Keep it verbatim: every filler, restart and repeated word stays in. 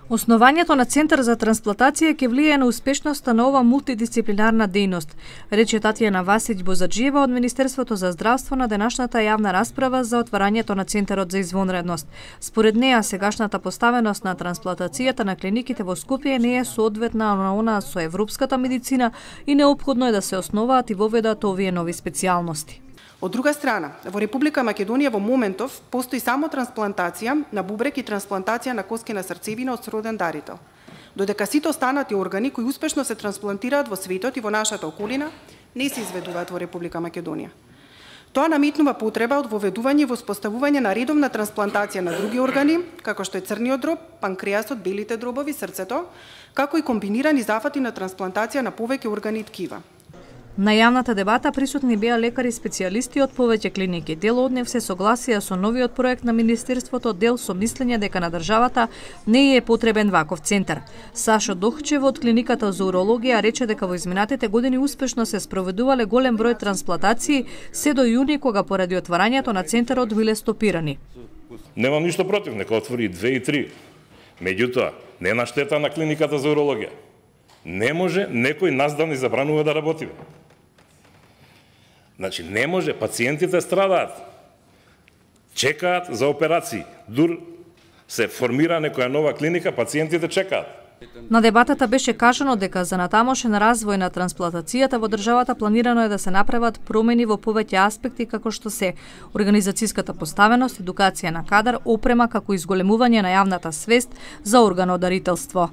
Основањето на Центар за трансплантација ќе влијае на успешноста на ова мултидисциплинарна дејност, рече Татјана Васиќ Бозаџиева од Министерството за здравство на денашната јавна расправа за отварањето на Центарот за извонредност. Според неа, сегашната поставеност на трансплантацијата на клиниките во Скопје не е соодветна на она со европската медицина и неопходно е да се основаат и воведат овие нови специјалности. Од друга страна, во Република Македонија во моментов постои само трансплантација на бубрек и трансплантација на коски на срцевина од сроден дарител. Додека сите останати органи кои успешно се трансплантираат во светот и во нашата околина, не се изведуваат во Република Македонија. Тоа наметнува потреба од воведување и воспоставување на редовна трансплантација на други органи, како што е црниот дроб, панкреасот, белите дробови, срцето, како и комбинирани зафати на трансплантација на повеќе органи и ткива. На јавната дебата присутни беа лекари специјалисти од повеќе клиники. Дел од нив се согласија со новиот проект на Министерството, дел со мислење дека на државата не е потребен ваков центар. Сашо Дохчев од клиниката за урологија рече дека во изминатите години успешно се спроведувале голем број трансплантации, се до јуни кога поради отварањето на центарот биле стопирани. Немам ништо против, нека отвори две и три. Меѓутоа, не на штета на клиниката за урологија. Не може некој нас да ни забранува да работиме. Значи, не може, пациентите страдаат, чекаат за операции. Дур се формира некоја нова клиника, пациентите чекаат. На дебатата беше кажано дека за натамошен развој на трансплантацијата во државата планирано е да се направат промени во повеќе аспекти како што се организацијската поставеност, едукација на кадар, опрема како изголемување на јавната свест за органодарителство.